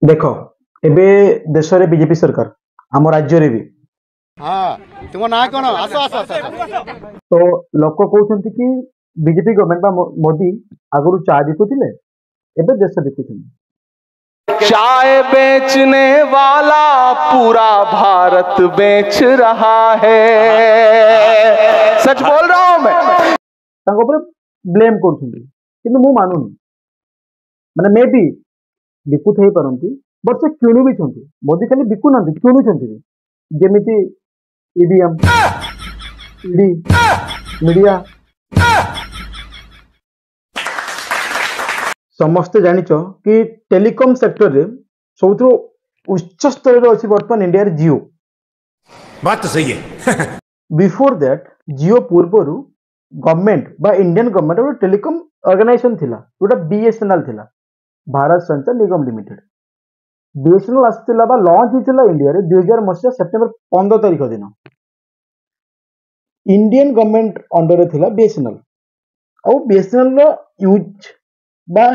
ଦେଖ, ଏବେ ଦେଶରେ ବିଜେପି ସରକାର, ଆମ ରାଜ୍ୟରେ ବି। ହଁ, ତୁମ ନାଁ କଣ? ଆସ ଆସ ଆସ। ତ ଲୋକ କହୁଛନ୍ତି କି ବିଜେପି ଗଭର୍ଣ୍ଣମେଣ୍ଟ ବା ମୋଦି ଆଗରୁ ଚା ବିକୁଥିଲେ, ଏବେ ଦେଶ ବିକୁଛନ୍ତି। चाय बेचने वाला पूरा भारत बेच रहा है, सच बोल रहा हूं मैं। ତାଙ୍କ ଉପରେ ବ୍ଲେମ୍ କରୁଛନ୍ତି, କିନ୍ତୁ ମୁଁ ମାନୁନି। ମାନେ ମେ ବି ବିକୁଥାଇ ପାରନ୍ତି, ବଟ୍ ସେ କିଣୁ ବି ଛନ୍ତି। ମୋଦି ଖାଲି ବିକୁନାହାନ୍ତି, କିଣୁଛନ୍ତି ବି। ଯେମିତି ଇଭିଏମ୍, ଇଡି, ମିଡିଆ। ସମସ୍ତେ ଜାଣିଛ କି ଟେଲିକମ୍ ସେକ୍ଟରରେ ସବୁଥିରୁ ଉଚ୍ଚ ସ୍ତରରେ ଅଛି ବର୍ତ୍ତମାନ ଇଣ୍ଡିଆରେ ଜିଓ। बात तो सही है। ବିଫୋର that, Jio ପୂର୍ବରୁ ଗଭର୍ଣ୍ଣମେଣ୍ଟ ବା ଇଣ୍ଡିଆନ ଗଭର୍ଣ୍ଣମେଣ୍ଟ ଗୋଟେ ଟେଲିକମ୍ ଅର୍ଗାନାଇଜେସନ ଥିଲା, ଯୋଉଟା ବିଏସଏନଏଲ ଥିଲା, ଭାରତ ସଞ୍ଚାର ନିଗମ ଲିମିଟେଡ। ବିଏସଏନଏଲ ଆସିଥିଲା ବା ଲଞ୍ଚ ହେଇଥିଲା ଇଣ୍ଡିଆରେ 2000 ମସିହା ସେପ୍ଟେମ୍ବର 15 ତାରିଖ ଦିନ। ଇଣ୍ଡିଆନ ଗଭର୍ଣ୍ଣମେଣ୍ଟ ଅଣ୍ଡରରେ ଥିଲା ବିଏସଏନଏଲ, ଆଉ ବିଏସଏନଏଲ ର ୟୁଜ୍ ବା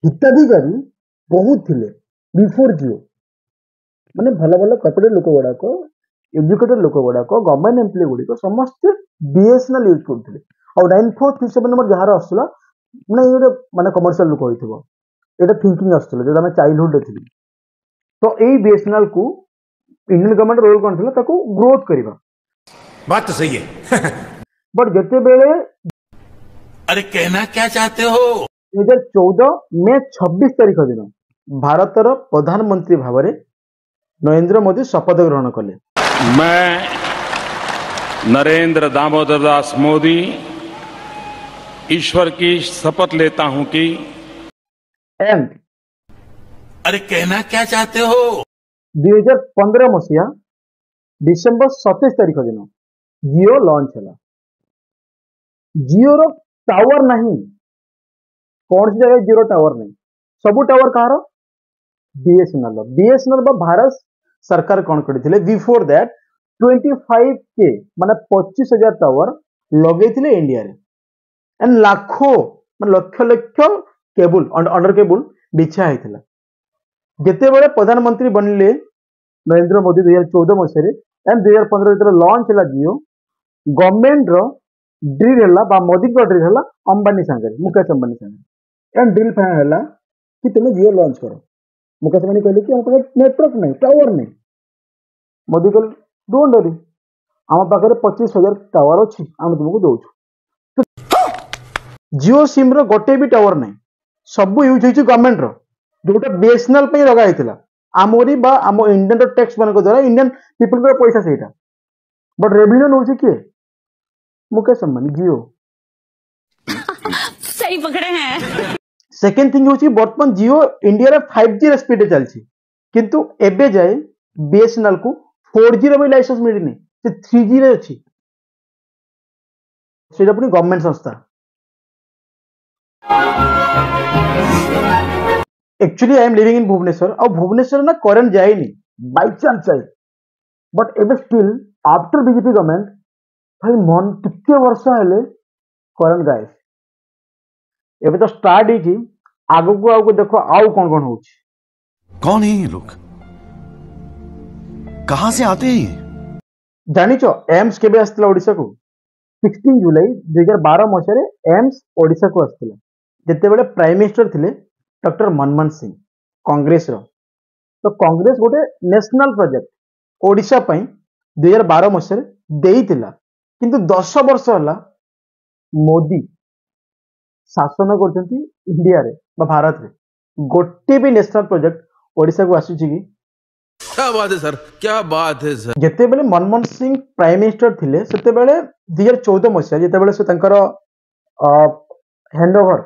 ହିତାଧିକାରୀ ବହୁତ ଥିଲେ ବିଫୋର ଜିଓ। ମାନେ ଭଲ ଭଲ କର୍ପୋରେଟ ଲୋକ ଗୁଡାକ, ଏଜୁକେଟେଡ ଲୋକ ଗୁଡାକ, ଗଭର୍ଣ୍ଣମେଣ୍ଟ ଏମ୍ପ୍ଲୟି ଗୁଡିକ ସମସ୍ତେ ବିଏସଏନଏଲ ୟୁଜ୍ କରୁଥିଲେ। ଆଉ 9437 ନମ୍ବର ଯାହାର ଆସୁଥିଲା, ମାନେ ଏଇ ଗୋଟେ ମାନେ କମର୍ସିଆଲ ଲୋକ ହେଇଥିବ, ଏଇଟା ଥିଙ୍କିଂ ଆସୁଥିଲା ଯେତେବେଳେ ଆମେ ଚାଇଲ୍ଡହୁଡରେ ଥିଲୁ। ତ ଏଇ ବିଏସଏନଏଲ କୁ ଇଣ୍ଡିଆନ ଗଭର୍ଣ୍ଣମେଣ୍ଟ ରୋଲ କଣ ଥିଲା? ତାକୁ ଗ୍ରୋଥ କରିବା। बात तो सही है। ବଟ୍ ଯେତେବେଳେ अरे कहना क्या चाहते हो? 2014 ମେ 26 ତାରିଖ ଦିନ ଭାରତର ପ୍ରଧାନମନ୍ତ୍ରୀ ଭାବରେ ନରେନ୍ଦ୍ର ମୋଦି ଶପଥ ଗ୍ରହଣ କଲେ। मैं नरेंद्र दामोदर दास मोदी ईश्वर की शपथ लेता हूं कि एंड अरे कहना क्या चाहते हो? 2015 ମସିହା ଡିସେମ୍ବର 27 ତାରିଖ ଦିନ ଜିଓ ଲଞ୍ଚ ହେଲା। ଜିଓର ଟାୱାର ନାହିଁ, କୌଣସି ଜାଗାରେ ଜିଓର ଟାୱାର ନାହିଁ। ସବୁ ଟାୱାର କାହାର? ବିଏସଏନଏଲ। ବିଏସଏନଏଲ ବା ଭାରତ ସରକାର କଣ କରିଥିଲେ, ବିଫୋର that 25K ମାନେ 25,000 ଟାୱାର ଲଗେଇଥିଲେ ଇଣ୍ଡିଆରେ, ଆଣ୍ଡ ଲାଖୋ ମାନେ lakh lakh cable, under cable ବିଛା ହେଇଥିଲା। ଯେତେବେଳେ ପ୍ରଧାନମନ୍ତ୍ରୀ ବନିଲେ ନରେନ୍ଦ୍ର ମୋଦି 2014 ମସିହାରେ, ଆଣ୍ଡ 2015 ଯେତେବେଳେ ଲଞ୍ଚ ହେଲା ଜିଓ, ଗଭର୍ଣ୍ଣମେଣ୍ଟର ଡିଲ୍ ହେଲା ବା ମୋଦିଙ୍କ ଡିଲ୍ ହେଲା ଅମ୍ବାନୀ ସାଙ୍ଗରେ, ମୁକେଶ ଅମ୍ବାନୀ ସାଙ୍ଗରେ। ଆଣ୍ଡ ଡିଲ୍ ଫାଇନାଲ ହେଲା କି ତୁମେ ଜିଓ ଲଞ୍ଚ କର। ମୁକେଶ ଅମ୍ବାନୀ କହିଲେ କି ଆମ ପାଖରେ ନେଟୱାର୍କ ନାହିଁ, ଟାୱାର ନାହିଁ। ମୋଦି କହିଲେ don't ଡରି, ଆମ ପାଖରେ 25,000 ଟାୱାର ଅଛି, ଆମେ ତୁମକୁ ଦଉଛୁ। ଜିଓ ସିମ୍ ର ଗୋଟେ ବି ଟାୱାର ନାହିଁ, ସବୁ ୟୁଜ୍ ହେଇଛି ଗଭର୍ଣ୍ଣମେଣ୍ଟର, ଯୋଉଟା ବିଏସଏନଏଲ ପାଇଁ ଲଗା ହେଇଥିଲା ଆମରି ବା ଆମ ଇଣ୍ଡିଆନ ଟ୍ୟାକ୍ସ ମାନଙ୍କ ଦ୍ୱାରା, ଇଣ୍ଡିଆନ ପିପୁଲଙ୍କର ପଇସା ସେଇଟା। ବଟ୍ ରେଭିନ୍ୟୁ ନଉଛି କିଏ? ମୁକେଶ ଅମ୍ବାନୀ, ଜିଓ। सही पकड़े हैं। ସେକେଣ୍ଡ ଥିଙ୍ଗ ହେଉଛି ବର୍ତ୍ତମାନ ଜିଓ ଇଣ୍ଡିଆର 5G ର ସ୍ପିଡରେ ଚାଲିଛି, କିନ୍ତୁ ଏବେ ଯାଏ ବିଏସଏନଏଲ କୁ 4G ର ବି ଲାଇସେନ୍ସ ମିଳିନି, ସେ 3G ରେ ଅଛି। ସେଇଟା ପୁଣି ଗଭର୍ଣ୍ଣମେଣ୍ଟ ସଂସ୍ଥା। Actually I am living in Bhubaneswar, ଆଉ ଭୁବନେଶ୍ୱର ନା କରେଣ୍ଟ ଯାଏନି, ବାଇଚାନ୍ସ ଯାଏ। ବଟ୍ ଏବେ ଷ୍ଟିଲ୍ ଆଫ୍ଟର ବିଜେପି ଗଭର୍ଣ୍ଣମେଣ୍ଟ ଭାଇ ମନ ଟିକେ ବର୍ଷା ହେଲେ କରେଣ୍ଟ ଗାଏବ। ଏବେ ତ ଷ୍ଟାର୍ଟ ହେଇଛି, ଆଗକୁ ଆଗକୁ ଦେଖ ଆଉ କଣ କଣ ହଉଛି। कौन है ये लोग, कहां से आते हैं ये? ଜାଣିଛ ଏମ୍ସ କେବେ ଆସିଥିଲା ଓଡ଼ିଶାକୁ? 16 ଜୁଲାଇ 2012 ମସିହାରେ ଏମ୍ସ ଓଡ଼ିଶାକୁ ଆସିଥିଲା, ଯେତେବେଳେ ପ୍ରାଇମ ମିନିଷ୍ଟର ଥିଲେ ଡକ୍ଟର ମନମୋହନ ସିଂ, କଂଗ୍ରେସର। ତ କଂଗ୍ରେସ ଗୋଟେ ନ୍ୟାସନାଲ ପ୍ରୋଜେକ୍ଟ ଓଡ଼ିଶା ପାଇଁ 2012 ମସିହାରେ ଦେଇଥିଲା, କିନ୍ତୁ 10 ବର୍ଷ ହେଲା ମୋଦି ଶାସନ କରୁଛନ୍ତି ଇଣ୍ଡିଆରେ ବା ଭାରତରେ, ଗୋଟେ ବି ନ୍ୟାସନାଲ ପ୍ରୋଜେକ୍ଟ ଓଡ଼ିଶାକୁ ଆସୁଛି କି? क्या बात है सर, क्या बात है सर। ଯେତେବେଳେ ମନମୋହନ ସିଂ ପ୍ରାଇମ ମିନିଷ୍ଟର ଥିଲେ, ସେତେବେଳେ 2014 ମସିହା ଯେତେବେଳେ ସେ ତାଙ୍କର ହ୍ୟାଣ୍ଡ ଓଭର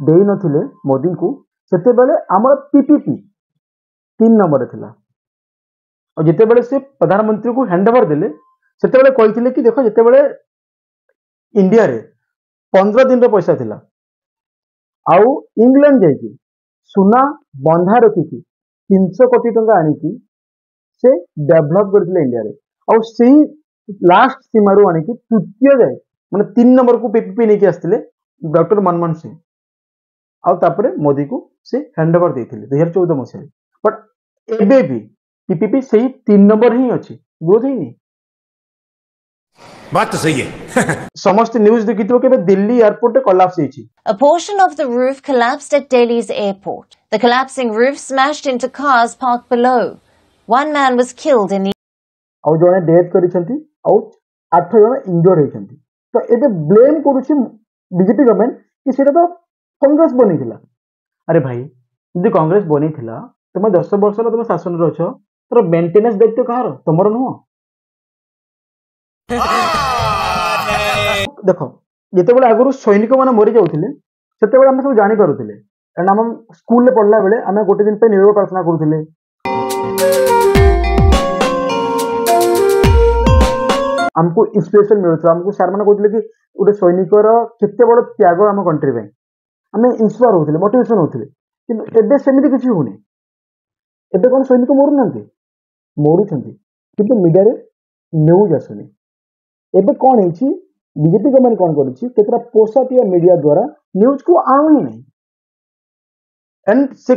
ଦେଇନଥିଲେ ମୋଦିଙ୍କୁ, ସେତେବେଳେ ଆମର ପିପିପି 3 ନମ୍ବରରେ ଥିଲା। ଆଉ ଯେତେବେଳେ ସେ ପ୍ରଧାନମନ୍ତ୍ରୀଙ୍କୁ ହ୍ୟାଣ୍ଡ ଓଭର ଦେଲେ, ସେତେବେଳେ କହିଥିଲେ କି ଦେଖ, ଯେତେବେଳେ ଇଣ୍ଡିଆରେ 15 ଦିନର ପଇସା ଥିଲା, ଆଉ ଇଂଲଣ୍ଡ ଯାଇକି ସୁନା ବନ୍ଧା ରଖିକି 300 କୋଟି ଟଙ୍କା ଆଣିକି ସେ ଡେଭଲପ କରିଥିଲେ ଇଣ୍ଡିଆରେ, ଆଉ ସେଇ ଲାଷ୍ଟ ସୀମାରୁ ଆଣିକି ତୃତୀୟ ଯାଏ ମାନେ 3 ନମ୍ବରକୁ ପିପିପି ନେଇକି ଆସିଥିଲେ ଡକ୍ଟର ମନମୋହନ ସିଂ। ଆଉ ତାପରେ ମୋଦିକୁ ସେ ହ୍ୟାଣ୍ଡ ଓଭର ଦେଇଥିଲେ 2014 ମସିହାରେ। ବଟ୍ ଏବେ ବି ପିପିପି ସେଇ 3 ନମ୍ବର ହିଁ ଅଛି, ଗ୍ରୋଥ ହେଇନି। बात तो सही है। ସମସ୍ତେ ନ୍ୟୁଜ ଦେଖିଥିବ କି ଏବେ ଦିଲ୍ଲୀ ଏୟାରପୋର୍ଟରେ କଲାପ୍ସ ହେଇଛି। A portion of the roof collapsed at Delhi's airport. The collapsing roof smashed into cars parked below. One man was killed in the ଆଉ ଜଣେ ଡେଥ୍ କରିଛନ୍ତି ଆଉ 8 ଜଣ ଇଞ୍ଜର୍ଡ ହେଇଛନ୍ତି। ତ ଏବେ ବ୍ଲେମ୍ କରୁଛି ବିଜେପି ଗଭର୍ଣ୍ଣମେଣ୍ଟ କି ସେଇଟା ତ କଂଗ୍ରେସ ବନେଇଥିଲା। ଆରେ ଭାଇ, ଯଦି କଂଗ୍ରେସ ବନେଇଥିଲା, ତମେ 10 ବର୍ଷ ହେଲା ତମେ ଶାସନରେ ଅଛ, ତାର ମେଣ୍ଟେନାନ୍ସ ଦାୟିତ୍ୱ କାହାର? ତମର ନୁହଁ? ଦେଖ, ଯେତେବେଳେ ଆଗରୁ ସୈନିକ ମାନେ ମରି ଯାଉଥିଲେ ସେତେବେଳେ ଆମେ ସବୁ ଜାଣିପାରୁଥିଲେ, କାରଣ ଆମ ସ୍କୁଲରେ ପଢିଲା ବେଳେ ଆମେ ଗୋଟେ ଦିନ ପାଇଁ ନିରବ ପ୍ରାର୍ଥନା କରୁଥିଲେ, ଆମକୁ ଇନ୍ସପିରେସନ ମିଳୁଥିଲା, ଆମକୁ ସାର୍ ମାନେ କହୁଥିଲେ କି ଗୋଟେ ସୈନିକର କେତେ ବଡ ତ୍ୟାଗ ଆମ କଣ୍ଟ୍ରି ପାଇଁ, ଆମେ ଇନ୍ସପାୟାର ହଉଥିଲେ, ମୋଟିଭେସନ ହଉଥିଲେ। କିନ୍ତୁ ଏବେ ସେମିତି କିଛି ହଉନି। ଏବେ କଣ ସୈନିକ ମରୁନାହାନ୍ତି? ମରୁଛନ୍ତି, କିନ୍ତୁ ମିଡିଆରେ ନ୍ୟୁଜ ଆସୁନି। ଏବେ କଣ ହେଇଛି, ବିଜେପି ଗଭର୍ଣ୍ଣମେଣ୍ଟ କଣ କରିଛି, କେତେଟା ପୋଷାଟିଆ ମିଡିଆ ଦ୍ୱାରା ନ୍ୟୁଜକୁ ଆଣୁ ହିଁ ନାହିଁ। ଆଣ୍ଡ ସେ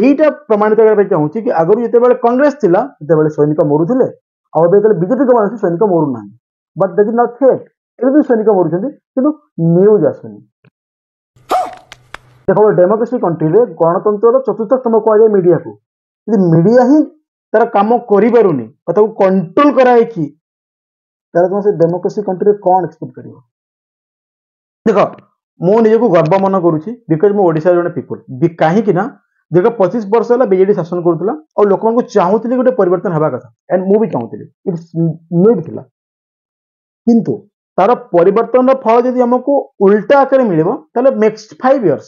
ଏଇଟା ପ୍ରମାଣିତ କରିବା ପାଇଁ ଚାହୁଁଛି କି ଆଗରୁ ଯେତେବେଳେ କଂଗ୍ରେସ ଥିଲା ସେତେବେଳେ ସୈନିକ ମରୁଥିଲେ, ଆଉ ଏବେ ଯେତେବେଳେ ବିଜେପି ଗଭର୍ଣ୍ଣମେଣ୍ଟ ଅଛି ସୈନିକ ମରୁନାହାନ୍ତି। But that is not fact. ଏବେ ବି ସୈନିକ ମରୁଛନ୍ତି କିନ୍ତୁ ନ୍ୟୁଜ ଆସୁନି। ଦେଖ, ଡେମୋକ୍ରେସି କଣ୍ଟ୍ରିରେ ଗଣତନ୍ତ୍ରର ଚତୁର୍ଥ ସ୍ତମ୍ଭ କୁହାଯାଏ ମିଡିଆକୁ। ଯଦି ମିଡିଆ ହିଁ ତାର କାମ କରିପାରୁନି ବା ତାକୁ କଣ୍ଟ୍ରୋଲ କରାହେଇକି, ତାହେଲେ ତମେ ସେ ଡେମୋକ୍ରେସି କଣ୍ଟ୍ରିରେ କଣ ଏକ୍ସପେକ୍ଟ କରିବ? ଦେଖ, ମୁଁ ନିଜକୁ ଗର୍ବ ମନେ କରୁଛି because ମୁଁ ଓଡ଼ିଶାର ଜଣେ ପିପୁଲ। କାହିଁକି ନା ଦୀର୍ଘ 25 ବର୍ଷ ହେଲା ବିଜେଡି ଶାସନ କରୁଥିଲା ଆଉ ଲୋକମାନଙ୍କୁ ଚାହୁଁଥିଲି ଗୋଟେ ପରିବର୍ତ୍ତନ ହେବା କଥା, ଆଣ୍ଡ ମୁଁ ବି ଚାହୁଁଥିଲି, it's need ଥିଲା। କିନ୍ତୁ ତାର ପରିବର୍ତ୍ତନର ଫଳ ଯଦି ଆମକୁ ଉଲ୍ଟା ଆକାରରେ ମିଳିବ, ତାହେଲେ ନେକ୍ସଟ 5 ଇୟର୍ସ,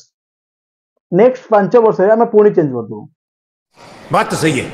ନେକ୍ସଟ 5 ବର୍ଷରେ ଆମେ ପୁଣି ଚେଞ୍ଜ କରିଦେବୁ। बात तो सही है।